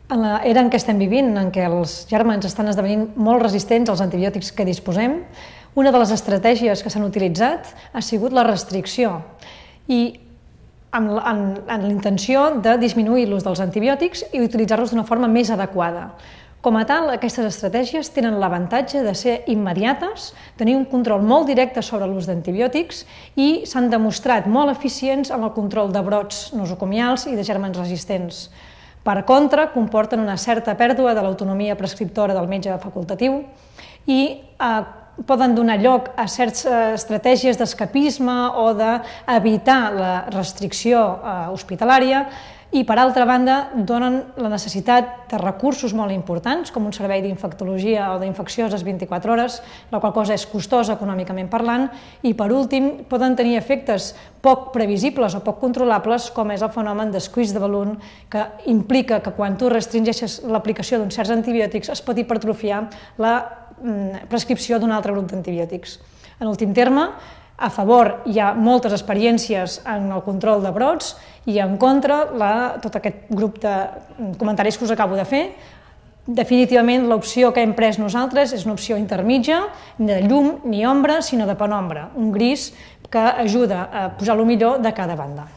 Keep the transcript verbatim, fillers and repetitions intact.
En l'era en què estem vivint, en què els gèrmens estan esdevenint molt resistents als antibiòtics que disposem, una de les estratègies que s'han utilitzat ha sigut la restricció i amb, amb, amb l'intenció de disminuir l'ús dels antibiòtics i utilitzar-los d'una forma més adequada. Com a tal, aquestes estratègies tenen l'avantatge de ser immediates, tenir un control molt directe sobre l'ús d'antibiòtics i s'han demostrat molt eficients en el control de brots nosocomials i de gèrmens resistents. Per contra, comporten una certa pèrdua de l'autonomia prescriptora del metge facultatiu i eh, poden donar lloc a certes estratègies d'escapisme o d'evitar la restricció eh, hospitalària i, per altra banda, donen la necessitat de recursos molt importants, com un servei d'infectologia o d'infeccioses vint-i-quatre hores, la qual cosa és costosa econòmicament parlant, i, per últim, poden tenir efectes poc previsibles o poc controlables, com és el fenomen de squeeze de balloon, que implica que quan tu restringeixes l'aplicació d'uns certs antibiòtics es pot hipertrofiar la prescripció d'un altre grup d'antibiòtics. En últim terme, a favor hi ha moltes experiències en el control de brots i en contra la, tot aquest grup de comentaris que us acabo de fer. Definitivament l'opció que hem pres nosaltres és una opció intermitja, ni de llum ni ombra, sinó de penombra, un gris que ajuda a posar el millor de cada banda.